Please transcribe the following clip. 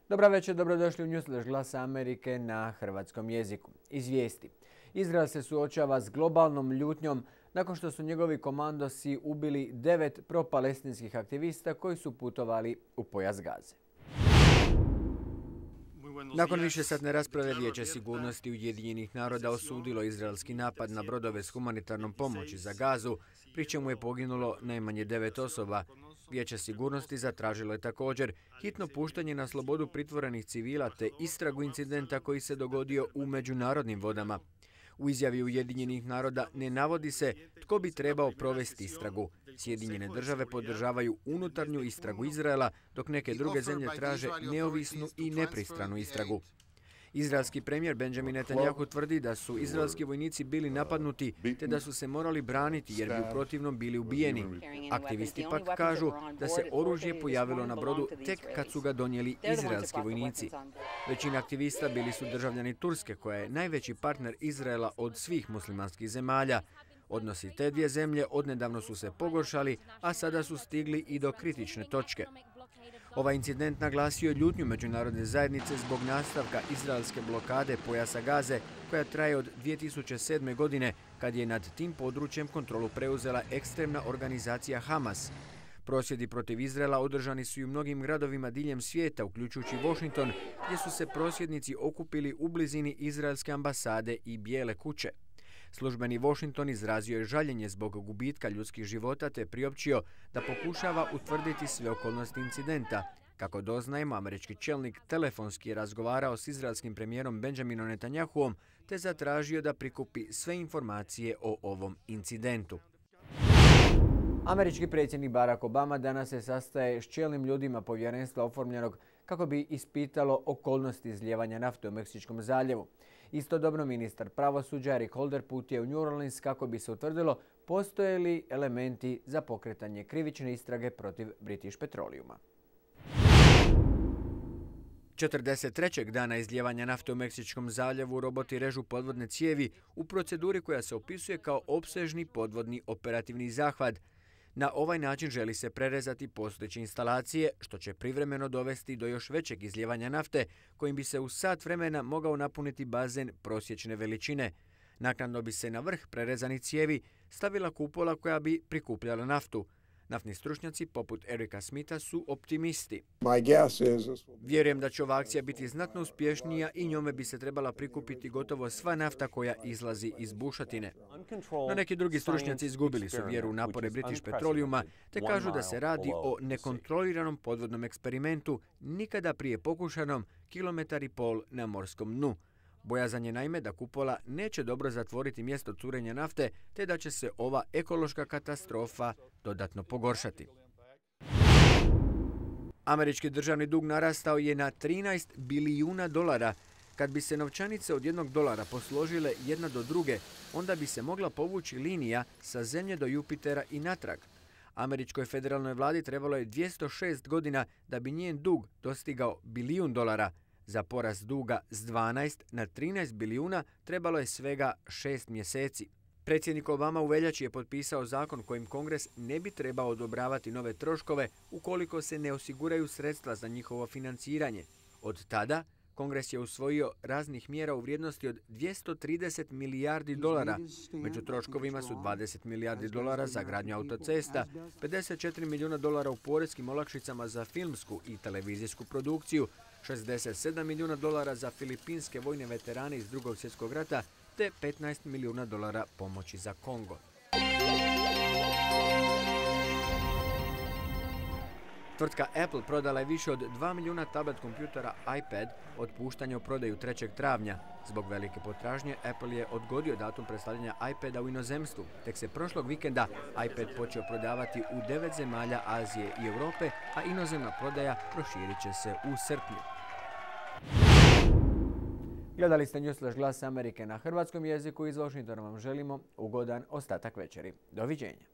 Dobra večer, dobrodošli u Newsflash Glasa Amerike na hrvatskom jeziku. Iz vijesti. Izrael se suočava s globalnom ljutnjom nakon što su njegovi komandosi ubili 9 pro-palestinskih aktivista koji su putovali u pojas Gaze. Nakon višesatne rasprave Vijeće sigurnosti Ujedinjenih naroda osudilo izraelski napad na brodove s humanitarnom pomoći za Gazu, pri čemu je poginulo najmanje 9 osoba. Vijeće sigurnosti zatražilo je također hitno puštanje na slobodu pritvorenih civila te istragu incidenta koji se dogodio u međunarodnim vodama. U izjavi Ujedinjenih naroda ne navodi se tko bi trebao provesti istragu. Sjedinjene države podržavaju unutarnju istragu Izraela, dok neke druge zemlje traže neovisnu i nepristranu istragu. Izraelski premijer Benjamin Netanjahu tvrdi da su izraelski vojnici bili napadnuti te da su se morali braniti jer bi u protivnom bili ubijeni. Aktivisti pak kažu da se oružje pojavilo na brodu tek kad su ga donijeli izraelski vojnici. Većina aktivista bili su državljani Turske, koja je najveći partner Izraela od svih muslimanskih zemalja. Odnosi te dvije zemlje odnedavno su se pogoršali, a sada su stigli i do kritične točke. Ovaj incident naglasio je ljutnju međunarodne zajednice zbog nastavka izraelske blokade pojasa Gaze, koja traje od 2007. godine, kad je nad tim područjem kontrolu preuzela ekstremna organizacija Hamas. Prosvjedi protiv Izraela održani su i u mnogim gradovima diljem svijeta, uključujući Washington, gdje su se prosvjednici okupili u blizini izraelske ambasade i Bijele kuće. Službeni Washington izrazio je žaljenje zbog gubitka ljudskih života te priopćio da pokušava utvrditi sve okolnosti incidenta. Kako doznajemo, američki čelnik telefonski je razgovarao s izraelskim premijerom Benjaminom Netanjahuom te zatražio da prikupi sve informacije o ovom incidentu. Američki predsjednik Barack Obama danas se sastaje s čelnim ljudima povjerenstva oformljenog kako bi ispitalo okolnosti izlijevanja nafte u Meksičkom zaljevu. Istodobno ministar pravosuđa Eric Holder putuje u New Orleans kako bi se utvrdilo postoje li elementi za pokretanje krivične istrage protiv British Petroleuma. 43. dana izlijevanja nafte u Meksičkom zaljevu roboti režu podvodne cijevi u proceduri koja se opisuje kao opsežni podvodni operativni zahvat. Na ovaj način želi se prerezati postojeće instalacije, što će privremeno dovesti do još većeg izlijevanja nafte, kojim bi se u sat vremena mogao napuniti bazen prosječne veličine. Naknadno bi se na vrh prerezanih cijevi stavila kupola koja bi prikupljala naftu. Naftni stručnjaci poput Erika Smitha su optimisti. Vjerujem da će ova akcija biti znatno uspješnija i njome bi se trebala prikupiti gotovo sva nafta koja izlazi iz bušotine. No neki drugi stručnjaci izgubili su vjeru u napore British Petroleuma te kažu da se radi o nekontroliranom podvodnom eksperimentu, nikada prije pokušanom 1,5 km na morskom dnu. Bojazan je naime da kupola neće dobro zatvoriti mjesto curenja nafte te da će se ova ekološka katastrofa dodatno pogoršati. Američki državni dug narastao je na $13 bilijuna. Kad bi se novčanice od $1 posložile jedna do druge, onda bi se mogla povući linija sa Zemlje do Jupitera i natrag. Američkoj federalnoj vladi trebalo je 206 godina da bi njen dug dostigao $1 bilijun. Za porast duga s 12 na 13 bilijuna trebalo je svega 6 mjeseci. Predsjednik Obama u veljači je potpisao zakon kojim Kongres ne bi trebao odobravati nove troškove ukoliko se ne osiguraju sredstva za njihovo financiranje. Od tada Kongres je usvojio raznih mjera u vrijednosti od $230 milijardi. Među troškovima su $20 milijardi za gradnju autocesta, $54 milijuna u poreskim olakšicama za filmsku i televizijsku produkciju, $67 milijuna za filipinske vojne veterane iz Drugog svjetskog rata te $15 milijuna pomoći za Kongo. Tvrtka Apple prodala je više od 2 milijuna tablet kompjutera iPad od puštanja u prodaju 3. travnja. Zbog velike potražnje, Apple je odgodio datum predstavljanja iPada u inozemstvu. Tek se prošlog vikenda iPad počeo prodavati u 9 zemalja Azije i Europe, a inozemna prodaja proširit će se u srpnju. Gledali ste Newsflash Glas Amerike na hrvatskom jeziku. Iz Washingtona vam želimo ugodan ostatak večeri. Doviđenja.